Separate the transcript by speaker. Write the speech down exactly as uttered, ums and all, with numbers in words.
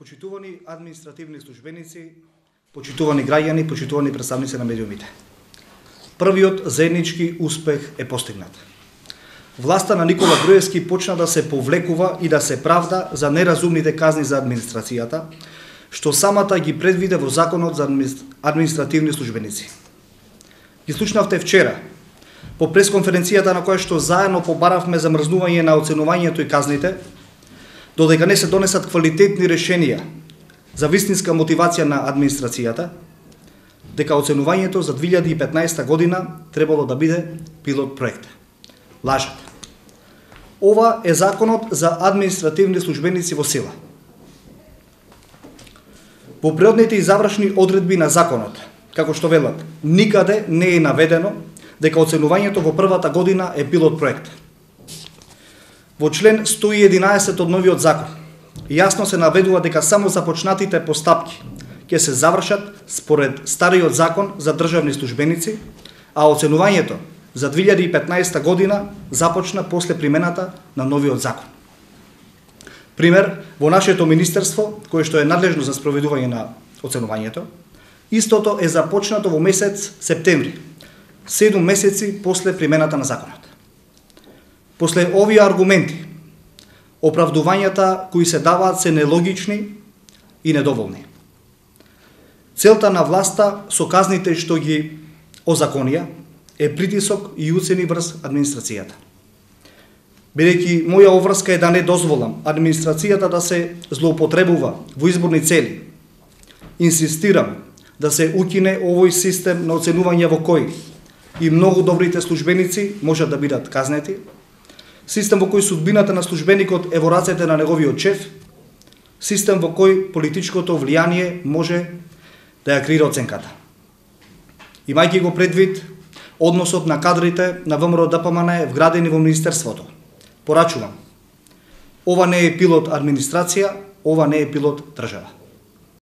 Speaker 1: Почитувани административни службеници, почитувани граѓани, почитувани представници на медиумите. Првиот заеднички успех е постигнат. Власта на Никола Груевски почна да се повлекува и да се правда за неразумните казни за администрацијата, што самата ги предвиде во Законот за административни службеници. Ги слушнавте вчера, по пресконференцијата на која што заедно побаравме замрзнување на оценувањето и казните, додека не се донесат квалитетни решенија за вистинска мотивација на администрацијата, дека оценувањето за две илјади и петнаесета година требало да биде пилот проект. Лажат. Ова е Законот за административни службеници во сила. Во преодните и завршни одредби на Законот, како што велат, никаде не е наведено дека оценувањето во првата година е пилот проект. Во член сто и единаесет од новиот закон јасно се наведува дека само започнатите постапки ќе се завршат според стариот закон за државни службеници, а оценувањето за две илјади и петнаесета година започна после примената на новиот закон. Пример, во нашето министерство, кое што е надлежно за спроведување на оценувањето, истото е започнато во месец септември, седум месеци после примената на законот. После овие аргументи, оправдувањата кои се даваат се нелогични и недоволни. Целта на власта со казните што ги озаконија е притисок и уцени врз администрацијата. Бидејќи моја оврска е да не дозволам администрацијата да се злоупотребува во изборни цели, инсистирам да се укине овој систем на оценување во кој и многу добрите службеници можат да бидат казнети, систем во кој судбината на службеникот е во рацете на неговиот шеф, систем во кој политичкото влијание може да ја креира оценката. Имајќи го предвид односот на кадрите на ВМРО Д П М Н вградени во Министерството, порачувам, ова не е пилот администрација, ова не е пилот држава.